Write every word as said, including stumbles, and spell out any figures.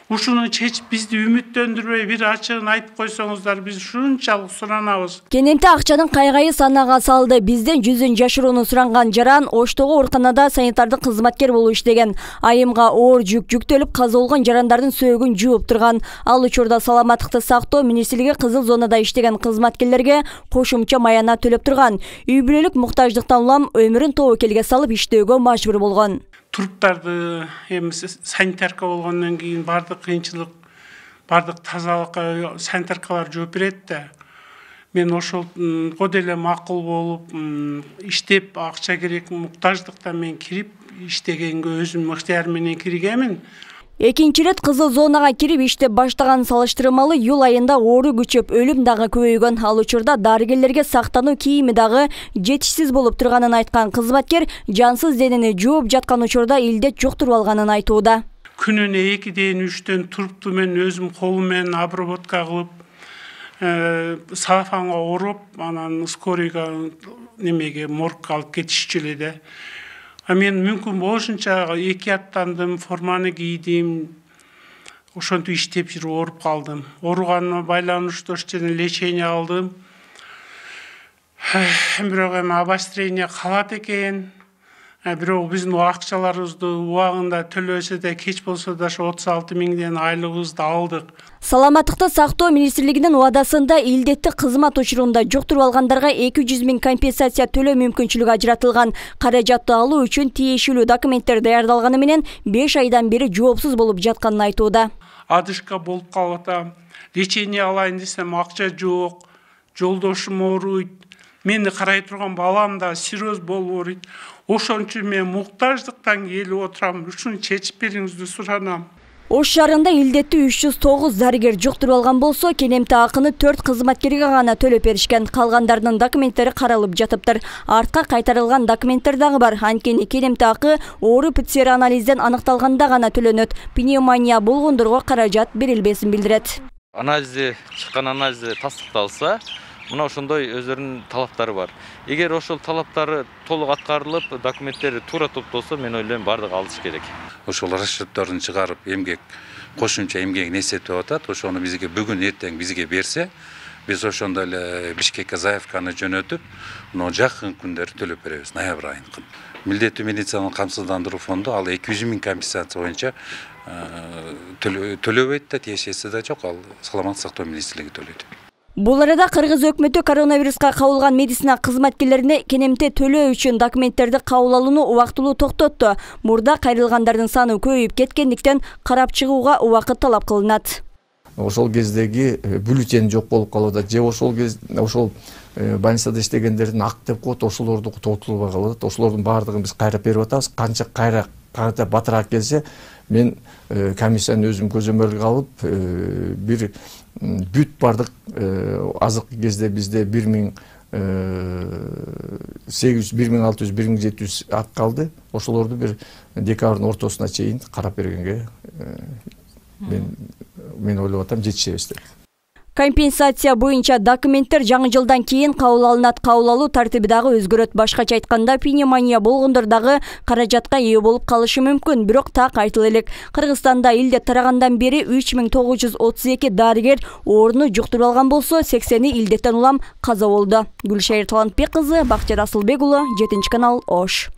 ушуну чечип бизди үмүттөндүрбөй бир ачыгын айтып койсоңуздар, биз ушунчалык суранабыз. Кененте акчанын кайгайы санага салды. Бизден жүзүн жашырууну суранган жаран Оштогу ооруканада санитардык кызматкер болуп иштеген. Айымга оор жүк жүктөлүп каза болгон жарандардын сөөгүн жууп турган. Ал учурда саламаттыкты сактоо министрлиги кызыл зонада иштеген кызматкерлерге кошумча маяна төлөп турган. Үй бүлөлүк муктаждыктан улам өмүрүн тобокелге салып иштөөгө мажбур болгон. Туруптарды эми санитарка болгондон кийин бардык кыйынчылык, бардык тазалыкка санитаркалар жооп берет да. Мен ошого деле макул болуп, иштеп, акча керек, муктаждыктан мен кирип иштегенге өзүм ыктыярым менен киргенмин. Экинчи рет кызыл зонага кирип иштеп баштаган салыштырмалуу июль айында оору күчөп, өлүм дагы көбөйгөн. Ал учурда дарыгерлерге сактануу кийими дагы жетишсиз болуп турганын айткан кызматкер жансыз денени жууп жаткан учурда илдет жуктуруп алганын айтууда. Күнүнө экиден үчтөн турупту мен өзүм колум менен обработка кылып, салафанга ороп, анан скорыйга немеге моргка алып кетишчү эле да. Мен мүмкүн болушунча эки аттандым, форманы кийдим. Ошентип иштеп жүрүп ооруп калдым. Ооруганыма байланыштуу жана лечение алдым. Бирок эми обострение калат экен. Бирок биздин акчаларыбызды убагында төлөсө да, кеч болсо да отуз алты миңден айлыгыбызды алдык. Саламаттыкты сактоо министрлигинин убадасында илдетти кызмат учурунда жуктуруп алгандарга эки жүз миң компенсация төлөө мүмкүнчүлүгү ажыратылган. Каражатты алуу үчүн тиешелүү документтер даярдалганы менен беш айдан бери жоопсуз болуп жатканын айтууда. Адышка болуп калып атам. Лечение алайын десем акча жок. Жолдошум ооруйт. Мени карай турган балам да сироз болуп ооруйт. Ошон үчүн мен муктаждыктан келип отурам. Ушуну чечип бериңизди суранам. Ош шаарында илдетти үч жүз тогуз дарыгер жуктуруп алган болсо, Кенемте акыны төрт кызматкерге гана төлөп беришкен. Калгандарынын документтери каралып жатыптыр. Артка кайтарылган документтер дагы бар. Анткени Кенемте акы оору пэ цэ эр анализден аныкталганда гана төлөнөт. Пневмония болгондорго каражат берилбесин билдирет. Анализде чыккан анализде тастыкталса, мына ошондой өздөрүнүн талаптары бар. Эгер ошол талаптары толук аткарылып, документтери туура топтолсо, мен ойлойм бардыгы алыш керек. Ошол расчётторун чыгарып, эмгек кошумча эмгегин эсептеп атат. Ошону бизге бүгүн эртең бизге берсе, биз ошондой эле Бишкекке заявканы жөнөтүп, мына жакын күндөрү төлөп беребиз, ноябрь айында. Милдеттүү медициналык камсыздандыруу фонду ал эки жүз миң компенсация боюнча төлөбөйт да, тиешеси да жок, ал саламаттык сактоо министрлиги төлөйт. Бул арада Кыргыз өкмөтү коронавируска кабылган медицина кызматкерлерине Кенемте төлөө үчүн документтерди кабыл алууну убактылуу токтотту. Мурда кайрылгандардын саны көбөйүп кеткендиктен карап чыгууга убакыт талап кылынат. Ошол кездеги бюллетень жок болуп калууда, же ошол кез ошол больницада иштегендердин ак деп коет, ошолорду тотулбай калат. Ошолордун баардыгын биз кайрап берип атабыз. Канча кайра кайра батыраак келсе, мен комиссияны өзүм көзөмөлгө алып, бир бүт бардык азыркы кезде бизде бир миң сегиз жүз, бир миң алты жүз, бир миң жети жүз ак калды. Ошолорду бир декабрдын ортосуна чейин карап бергенге мен мен ойлоп атам жетишебиз деп. Компенсация боюнча документтер жаңы жылдан кийин кабыл алынат. Кабыл алуу тартиби дагы өзгөрөт. Башкача айтканда, пневмония болгондор дагы каражатка ээ болуп калышы мүмкүн. Бирок так айтыла элек, Кыргызстанда илдет тарагандан бери үч миң тогуз жүз отуз эки дарыгер ооруну жуктуруп алган болсо, сексени илдеттен улам каза болду. Гүлшайыр Талантбек кызы, Бактияр Асылбек уулу, жетинчи канал, Ош.